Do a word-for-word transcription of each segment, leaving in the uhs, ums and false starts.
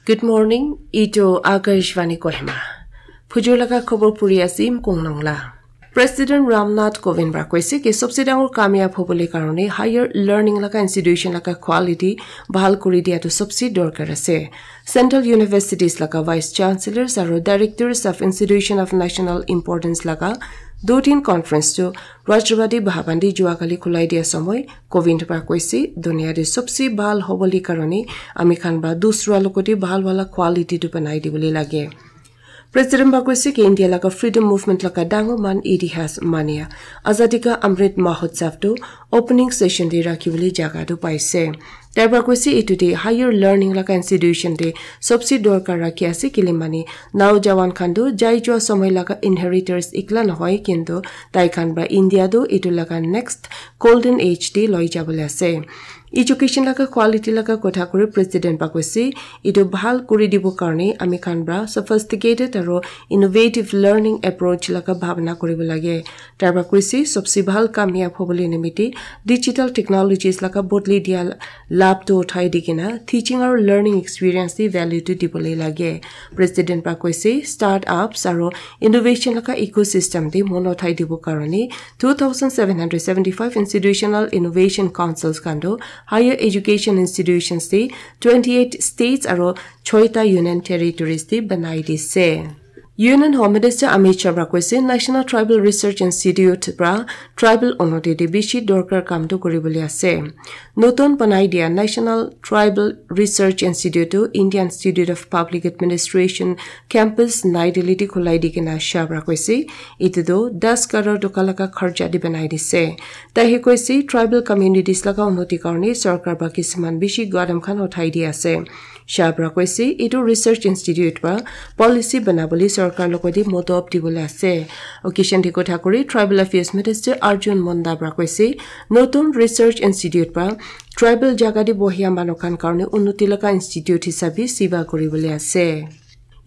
Good morning, itu Akashvani Kohima. Phujur laga khobor puri asim Kongnong la. President Ramnath Kovind pra koise ki sobse dangor kamyab hobole karone higher learning laga institution laga quality bahal kuri dia tu sobse dorkar ase. Central universities laga vice chancellors aro directors of institution of national importance laga do tin conference tu Rashtrapati Bhavan di jua kali khulai dia samoi Kovind pra koise, duniya de sobse bahal hobole karone ami khan pra dusra logote bahal wala quality tu banai dibole lage. President pra koise ki India laga freedom movement laga dangor man itihas mania Azadi ka Amrit Mahotsav tu opening session de rakhi bole jaga tu paise. Tai pra koise itu de higher learning laga institution de sobse dorkar rakhi ase kile mane naujawan khan tu jai jua samoi laga inheritors ikla nohoi kintu tai khan pra India tu itu laga next golden age de loi jabole ase. Education laga quality laga kotha kuri president pra koise, itu bahal kuri dibo karone ami khan pra sophisticated aro innovative learning approach laga bhabna kuribo lage. Tai pra koise sobse bahal kamyab hobole nimite digital technologies laga bodli dia lab tu uthai di kena teaching aro learning experience di value tu dibole lage. President pra koise startups aro innovation laga ecosystem di mon uthai dibo karone two thousand seven hundred seventy-five institutional innovation councils khan tu higher education institutions di twenty-eight states aro choita union territories di banai dise. Union Home Minister Amit Shah pra koise National Tribal Research Institute pra tribal unoti de bishi dorkar kam tu kuribole ase. Notun banai dia National Tribal Research Institute tu Indian Institute of Public Administration campus Nai Delhi de khulai di kena Shah pra koise itu tu das karor toka laga kharcha de banai dise. Tai he koise tribal communities laga unoti karone sorkar pra kisiman bishi gadam khan uthai di ase. Shah pra koise itu research institute pra policy banabole sorkar logote modop dibole ase. Occasion de kotha kuri tribal affairs minister Arjun Munda pra koise notun research institute pra tribal jaga de bohia manu khan karone unoti laga institute hisabe siba kuribole ase.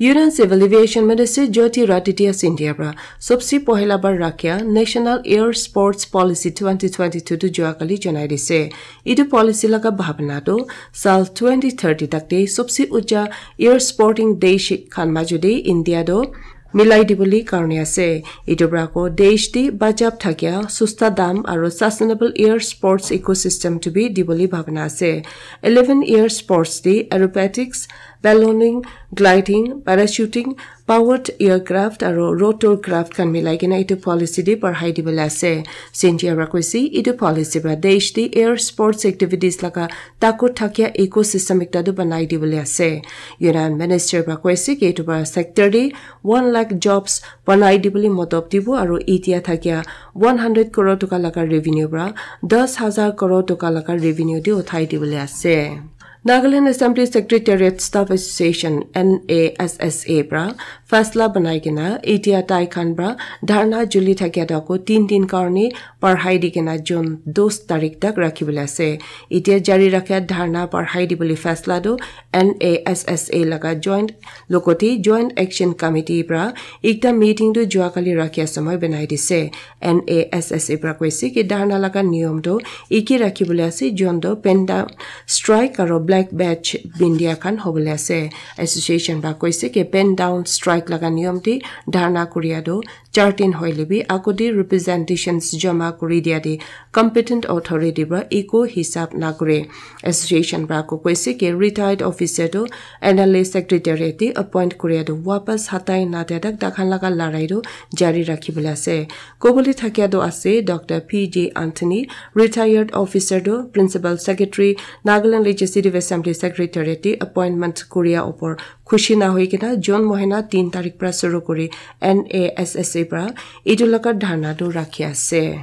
Union Civil Aviation Minister Jyotiraditya Scindia pra sobse pohila bar rakhia National Air Sports Policy twenty twenty-two tu jua kali janai dise. Itu policy laga bhabna tu sal twenty thirty tak te sobse ucha air sporting desh khan majo de India tu milai dibole karone ase. Itu pra ko desh de bajab thakia susta dam aro sustainable air sports ecosystem tu bi dibole bhabna ase. Eleven air sports de aerobatics, ballooning, gliding, parachuting, powered aircraft aro rotorcraft khan milai kena itu policy de barhai dibole ase. Scindia pra koise itu policy pra desh de air sports activities laga takot thakia ecosystem ekta tu banai dibole ase. Union Minister pra koise ki itu pra sector de one lakh jobs banai dibole modop dibo aro itia thakia one hundred crore toka laga revenue pra das hajar crore toka laga revenue de uthai dibole ase. Nagaland Assembly Secretariat Staff Association, N A S S A pra faisla banai kena itia tai khan pra dharna juli thakia tu ako tin din karone barhai di kena June dos tarik tak rakhi bole ase. Itia jari rakhia dharna barhai dibole faisla tu N A S S A laga joint logote Joint Action Committee pra ekta meeting tu jua kali rakhia samoi banai dise. N A S S A pra koise ki dharna laga niyom tu iki rakhi bole ase, jon tu pen down strike aro black badge bindia khan hobole ase. Association pra koise ki pen down strike laga niyom de dharna kuria tu char din hoile bi ako de representations jama kuri dia de competent authority pra eko hisab na kure. Association pra ako koise ki retired officer tu N L A secretariat de appoint kuria tu wapas hatai na dia tak takhan laga larai tu jari rakhi bole ase. Kobole thakia tu ase Doctor P J Anthony, retired officer tu Principal Secretary, Nagaland Legislative Assembly Secretariat de appointment kuria opor khushi na hoi kena June mohina tin tarik pra suru kuri N A S S A pra itu laga dharna tu rakhi ase.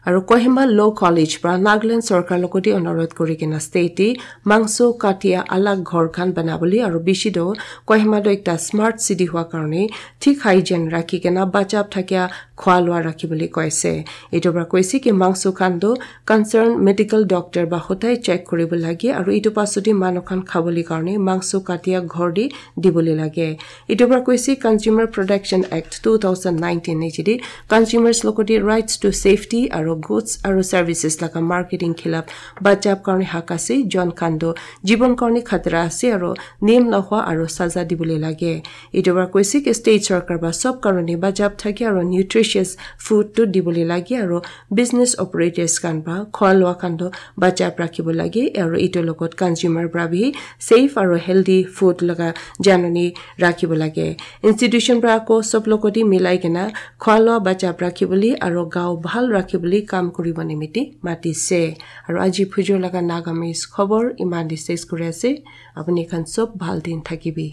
Aro Kohima Law College pra Nagaland sorkar logote onurodh kuri kena state de mangso katia alag ghor khan banabole aro bishi tu Kohima tu ekta smart city hua karone thik hygiene rakhi kena bachap thakia khua lua rakhi bole koise. Itu pra koise ki mangso khan tu concern medical doctor ba hotai check kuribo lage aro itu pasodi manu khan khabole karone mangso katia ghor de dibole lage. Itu pra koise Consumer Protection Act two thousand nineteen niche de consumers logote rights to safety aro goods aru services laga marketing khilaf bachab karne hak ase. Jon khan toh jibon karne khatara ase aru niyam nohua aru saza dibole lage. Etu para koise ki state sarkar para sob karone bachab thake aru nutritious food tu dibole lage aru business operators khan para khua lua khan toh bachab rakhibo lage aru etu logot consumer para bi safe aru healthy food laga janani rakhibo lage. Institution para ako sob logot te milai kena khua lua bachab rakhibole aru gao bhal rakhibole kam kuribo nimite matise. Aru aji phujor laga Nagamese khobor iman te ses kuri ase. Apuni khan sob bhal din thakibi.